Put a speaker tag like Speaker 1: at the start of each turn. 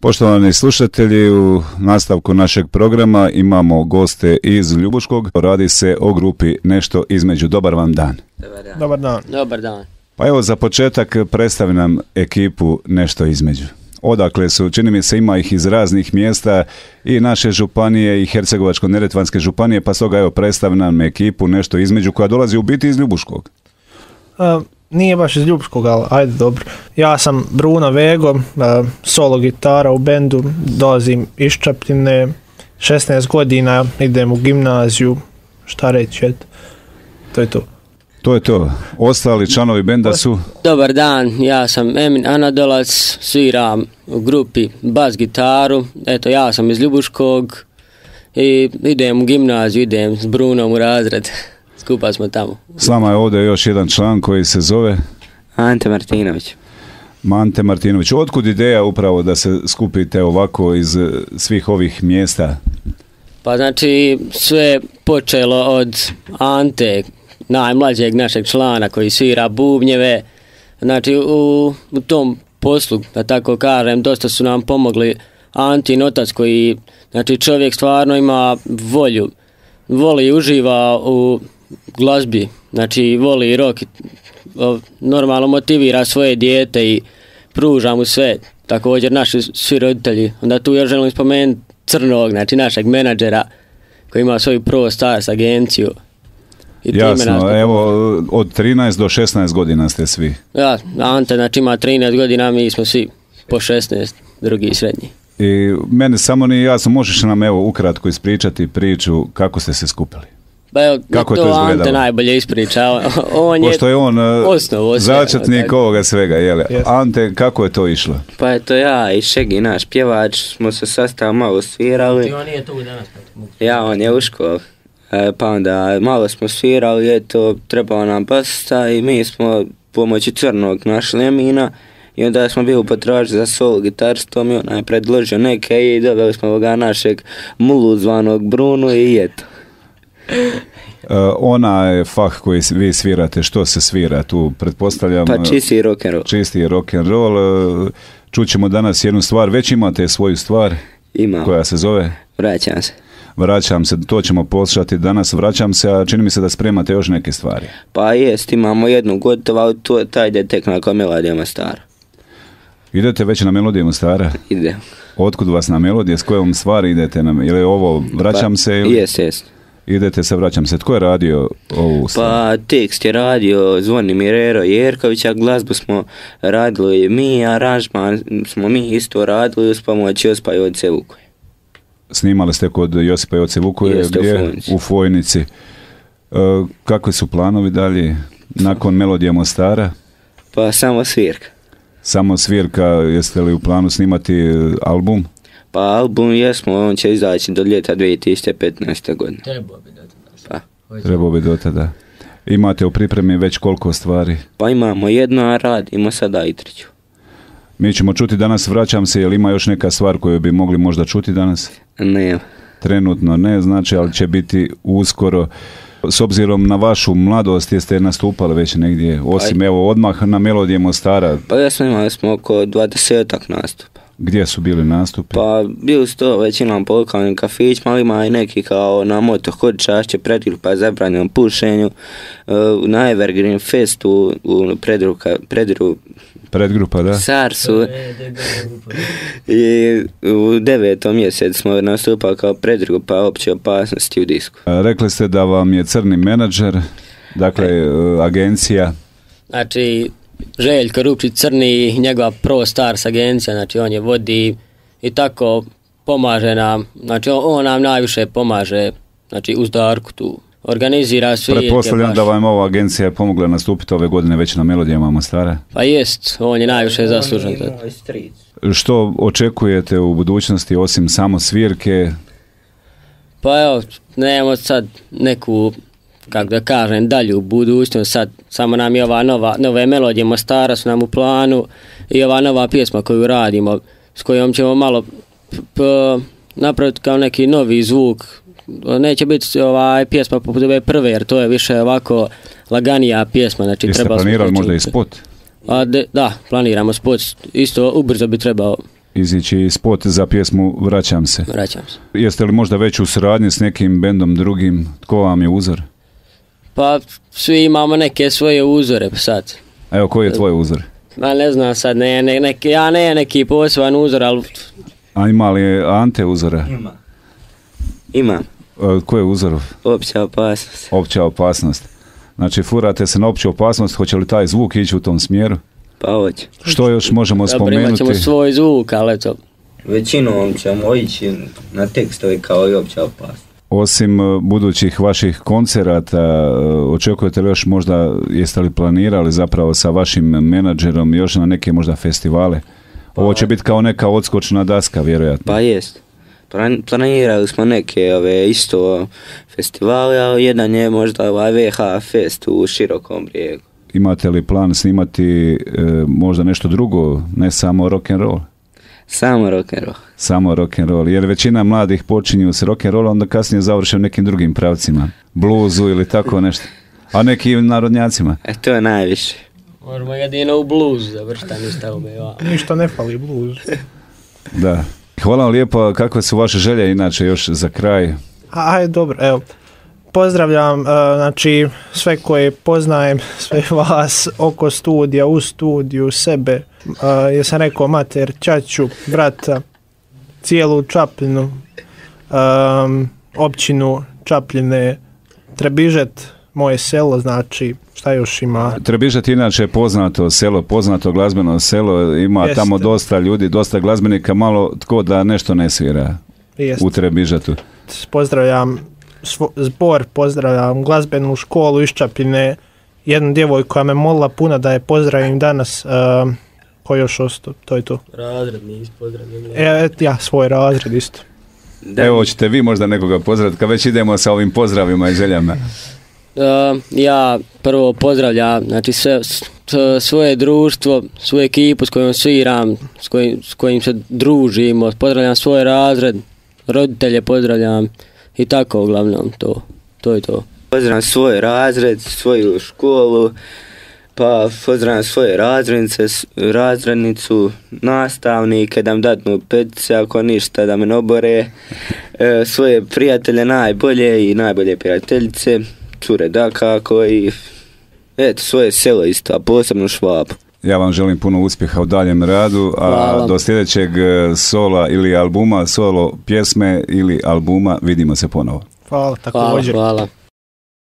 Speaker 1: Poštovani slušatelji, u nastavku našeg programa imamo goste iz Ljubuškog. Radi se o grupi Nešto između. Dobar vam dan.
Speaker 2: Dobar dan.
Speaker 3: Dobar dan.
Speaker 1: Pa evo za početak predstavi nam ekipu Nešto između. Odakle su, čini mi se ima ih iz raznih mjesta i naše županije i Hercegovačko-neretvanske županije, pa stoga evo predstavi nam ekipu Nešto između koja dolazi u biti iz Ljubuškog.
Speaker 2: Nije baš iz Ljubuškog, ali ajde dobro. Ja sam Bruno Vego, solo gitara u bendu, dolazim iz Čapljine, 16 godina, idem u gimnaziju, šta reći, eto. To je to.
Speaker 1: To je to. Ostali članovi benda su...
Speaker 3: Dobar dan, ja sam Emin Anadolac, sviram u grupi bas gitaru. Eto, ja sam iz Ljubuškog i idem u gimnaziju, idem s Brunom u razred. Skupa smo tamo.
Speaker 1: S vama je ovdje još jedan član koji se zove...
Speaker 4: Ante Martinović.
Speaker 1: Ante Martinović. Otkud ideja upravo da se skupite ovako iz svih ovih mjesta?
Speaker 3: Pa znači sve počelo od Ante, najmlađeg našeg člana koji svira bubnjeve. Znači u tom poslu, da tako kažem, dosta su nam pomogli Antin otac koji, znači čovjek stvarno ima volju, voli i uživa u glazbi, znači voli rock, normalno motivira svoje dijete i pruža mu sve, također naši svi roditelji. Onda tu još želim spomenuti Crnog, znači našeg menadžera koji ima svoju Pro Stars agenciju. I
Speaker 1: jasno, evo od 13 do 16 godina ste svi.
Speaker 3: Ja, Ante znači ima 13 godina, mi smo svi po 16, drugi srednji.
Speaker 1: I mene samo nije jasno, možeš nam evo ukratko ispričati priču kako ste se skupili?
Speaker 3: Ba evo, kako to Ante najbolje ispričao.
Speaker 1: Pošto je on
Speaker 3: osnovu
Speaker 1: začetnik ovoga svega, jel? Yes. Ante, kako je to išlo?
Speaker 4: Pa eto ja i Šegi, naš pjevač, smo se sastav malo svirali.
Speaker 3: I on nije tu danas.
Speaker 4: Ja, on je u školu. Pa onda malo smo svirali, eto, trebao nam basista i mi smo pomoći Crnog našli Emina. I onda smo bili potražili za solo gitarstvom i on je predložio neke i doveli smo ovoga našeg mulu zvanog Bruno i eto.
Speaker 1: Ona je fah koji vi svirate, što se svira tu, pretpostavljam?
Speaker 4: Pa čisti rock'n'roll.
Speaker 1: Čisti rock'n'roll. Čućemo danas jednu stvar, već imate svoju stvar?
Speaker 4: Imam.
Speaker 1: Koja se zove?
Speaker 4: Vraćam se.
Speaker 1: Vraćam se, to ćemo poslušati danas, vraćam se, a čini mi se da spremate još neke stvari.
Speaker 4: Pa jest, imamo jednu gotovu, ali taj ide tek nakon Melodija Mostara.
Speaker 1: Idete već na Melodiju Mostara?
Speaker 4: Idem.
Speaker 1: Otkud vas na Melodije, s kojom stvari idete na, ili ovo vraćam se? Ili...
Speaker 4: Jest.
Speaker 1: Idete se, vraćam se. Tko je radio ovu stvar?
Speaker 4: Pa tekst je radio Zvonimir Ero Jerković, a glazbu smo radili mi, aranžman smo mi isto radili uz pomoć Josipa Joce Vukoje.
Speaker 1: Snimali ste kod Josipa Joce Vukoje, gdje? U Fojnici. Kakvi su planovi dalje nakon Melodija Mostara?
Speaker 4: Pa samo svirka.
Speaker 1: Samo svirka, jeste li u planu snimati album?
Speaker 4: Pa album jesmo, on će izaći do ljeta 2015. godine.
Speaker 1: Trebao bi do tada. Imate u pripremi već koliko stvari?
Speaker 4: Pa imamo jedno, a radimo sada i treću.
Speaker 1: Mi ćemo čuti danas, vraćam se, jel ima još neka stvar koju bi mogli možda čuti danas?
Speaker 4: Ne.
Speaker 1: Trenutno ne, znači, ali će biti uskoro. S obzirom na vašu mladost, jeste nastupali već negdje, osim evo odmah na Melodije Mostara?
Speaker 4: Pa jesmo, imali smo oko 20-ak nastupa.
Speaker 1: Gdje su bili nastupi?
Speaker 4: Pa bili su to većinom po lokalnim kafićima, ali ima i neki kao na Moto Hodičašće, Predgrupa zabranjenom pušenju, na Evergreen Festu,
Speaker 1: Predgrupa, da?
Speaker 4: Sarsu. I u 9. mjesecu smo nastupali kao Predgrupa opće opasnosti u disku.
Speaker 1: Rekli ste da vam je crni menadžer, dakle agencija.
Speaker 3: Znači Željko Rupčić Crni, njegova Pro Stars agencija, znači on je vodi i tako pomaže nam, znači on nam najviše pomaže, znači uz Darku tu organizira svi.
Speaker 1: Pretpostavljam da vam ova agencija pomogla nastupiti ove godine već na Melodijama Mostara?
Speaker 3: Pa jest, on je najviše zaslužan.
Speaker 1: Što očekujete u budućnosti osim samo svirke?
Speaker 3: Pa evo, nemamo sad neku, kako da kažem, dalju budućnost, sad samo nam je ova nove Melodije Mostara su nam u planu i ova nova pjesma koju radimo, s kojom ćemo malo napraviti kao neki novi zvuk. Neće biti pjesma poput ove prve, jer to je više ovako laganija pjesma. Znači,
Speaker 1: jeste planirali možda i spot?
Speaker 3: Da, planiramo spot, isto ubrzo bi trebao
Speaker 1: izići spot za pjesmu Vraćam se.
Speaker 3: Vraćam se.
Speaker 1: Jeste li možda već u suradnji s nekim bendom drugim? Tko vam je uzor?
Speaker 3: Pa svi imamo neke svoje uzore sad.
Speaker 1: Evo, koji je tvoj uzor?
Speaker 3: Ma ne znam sad, ja ne neki poseban uzor, ali...
Speaker 1: A ima li Ante uzora?
Speaker 4: Ima.
Speaker 1: Koji je uzor?
Speaker 4: Opća opasnost.
Speaker 1: Opća opasnost. Znači, furate se na opću opasnost, hoće li taj zvuk ići u tom smjeru?
Speaker 4: Pa hoće.
Speaker 1: Što još možemo spomenuti?
Speaker 3: Imat ćemo svoj zvuk, ali eto.
Speaker 4: Većinom ćemo ići na tekstove kao i opća opasnost.
Speaker 1: Osim budućih vaših koncerata, očekujete li još možda, jeste li planirali zapravo sa vašim menadžerom još na neke možda festivale? Ovo će biti kao neka odskočna daska, vjerojatno.
Speaker 4: Pa jest. Planirali smo neke isto festivale, ali jedan je možda ovaj VH Fest u Širokom Brijegu.
Speaker 1: Imate li plan snimati možda nešto drugo, ne samo rock'n'roll?
Speaker 4: Samo rock'n'roll.
Speaker 1: Samo rock'n'roll, jer većina mladih počinju s rock'n'rollom, onda kasnije završe nekim drugim pravcima, bluzu ili tako nešto, a nekim narodnjacima.
Speaker 4: To je najviše.
Speaker 3: Možemo jedino u bluzu završiti, ništa
Speaker 2: Ništa ne fali bluzu.
Speaker 1: Da. Hvala vam lijepo, kakve su vaše želje inače još za kraj?
Speaker 2: Ajde, dobro, evo. Pozdravljam, znači, sve koje poznajem, sve vas oko studija, u studiju, sebe, jesam rekao mater, ćaću, brata, cijelu Čapljinu, općinu Čapljine, Trebižet, moje selo, znači, šta još ima?
Speaker 1: Trebižet inače je poznato selo, poznato glazbeno selo, ima
Speaker 2: Jeste.
Speaker 1: tamo dosta ljudi, dosta glazbenika, malo tko da nešto ne svira.
Speaker 2: Jeste.
Speaker 1: U Trebižetu.
Speaker 2: Pozdravljam zbor, pozdravljam glazbenu školu iz Čapljine, jednu djevojku koja me molila puno da je pozdravim danas, ko još ostao, to je to.
Speaker 3: Razred nisi pozdravljen.
Speaker 2: Ja, svoj razred isto.
Speaker 1: Evo, hoćete vi možda nekoga pozdraviti, kad već idemo sa ovim pozdravima i željama?
Speaker 3: Ja prvo pozdravljam, znači svoje društvo, svoju ekipu s kojom sviram, s kojim se družimo, pozdravljam svoj razred, roditelje pozdravljam i tako uglavnom, to je to.
Speaker 4: Pozdravljam svoj razred, svoju školu, pa pozdravljam svoje razrednicu, nastavnike, da mi dadnu petice, ako ništa da me ne obore, svoje prijatelje najbolje i najbolje prijateljice, cure dakako i eto, svoje selo isto, a posebno Švabu.
Speaker 1: Ja vam želim puno uspjeha u daljem radu, a
Speaker 3: Hvala.
Speaker 1: do sljedećeg sola ili albuma, solo pjesme ili albuma, vidimo se ponovo.
Speaker 2: Hvala, također.
Speaker 3: Hvala.